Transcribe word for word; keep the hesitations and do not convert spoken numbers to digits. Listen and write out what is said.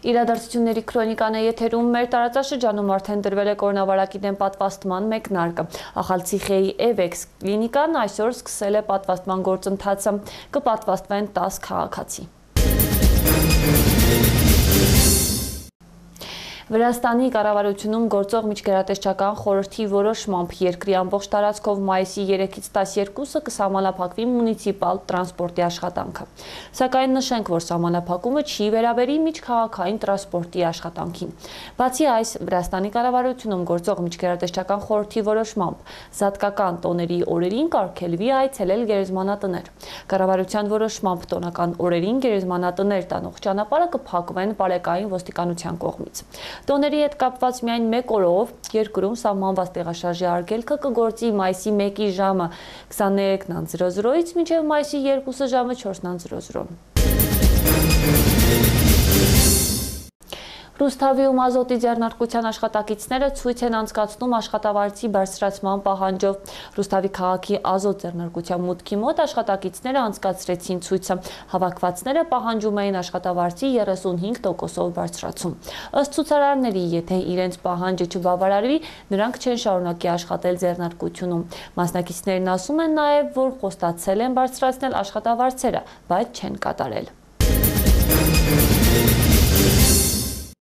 Իրադարձությունների քրոնիկան է եթերում, մեր տարածաշրջանում արդեն դրվել է կորոնավիրուսի դեմ պատվաստման մեկնարկը։ Ախալցիխեի Էվեքս կլինիկան այսօր սկսել է պատվաստման գործընթացը, կպատվաստվեն տասը քաղաքացի։ Վրաստանի կառավարությունում գործող միջգերատեսչական խորհրդի որոշմամբ երկրի ամբողջ տարածքով մայիսի երեքից տասներկուսը կսահմանափակվի մունիցիպալ տրանսպորտի աշխատանքը։ Սակայն նշենք, որ սահմանափակումը չի վերաբերի միջքաղաքային տրանսպորտի աշխատանքին։ Բացի այս, Վրաստանի կառավարությունում գործող միջգերատեսչական խորհրդի որոշմամբ զատկական տոների օրերին կարգելվի այցելել գերեզմանատներ։ Կառավարության որոշմամբ տոնական օրերին գերեզմանատներ տանող ճանապարհը կփակվեն բարեկային ոստիկանության կողմից։ Տոների հետ կապված միայն մեկ օրով երկրում սահմանված տեղաշարժի արգելքը կգործի մայիսի մեկի ժամը քսաներեքն զրո զրոից մինչև մայիսի երկուսը ժամը չորսն զրո զրո։ Ռուսթավիում ազոտի ձեռնարկության աշխատակիցները ցույց են անցկացնում աշխատավարձի բարձրացման պահանջով։ Ռուսթավի քաղաքի ազոտ ձեռնարկության մուտքի մոտ աշխատակիցները անցկացրեցին ցույցը։ Հավաքվածները պահանջում էին աշխատավարձի երեսունհինգ տոկոսով բարձրացում։ Ըստ ցուցարարների, եթե իրենց պահանջը չբավարարվի, նրանք չեն շարունակի աշխատել ձեռնարկությունում։ Մասնակիցներն ասում են նաև, որ խոստացել են բարձրացնել աշխատավարձերը, բայց չեն կատարել։